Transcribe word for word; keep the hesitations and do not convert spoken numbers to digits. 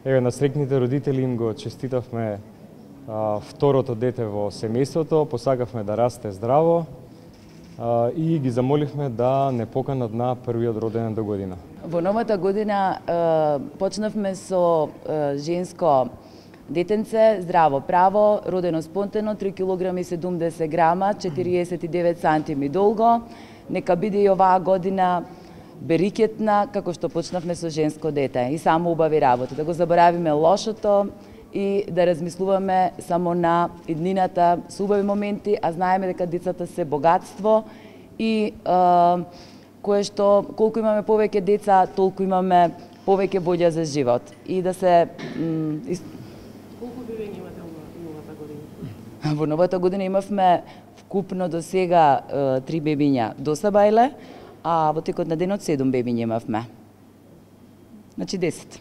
Еве на среќните родители им го честитавме а, второто дете во семејството, посакавме да расте здраво а, и ги замоливме да не поканат на првиот роденден до година. Во новата година е, почнавме со е, женско детенце, здраво право, родено спонтано, три килограми седумдесет грама, четириесет и девет сантими долго. Нека биде и оваа година берикетна, како што почнавме со женско дете и само убави работи. Да го заборавиме лошото и да размислуваме само на иднината со убави моменти, а знаеме дека децата се богатство и е, кое што колку имаме повеќе деца, толку имаме повеќе боља за живот. И да се из... Колку бебења имате во новата година? Во новата година имавме вкупно до сега три бебиња до Сабајле, а во текот на денот седум бебиња имавме. Значи десет.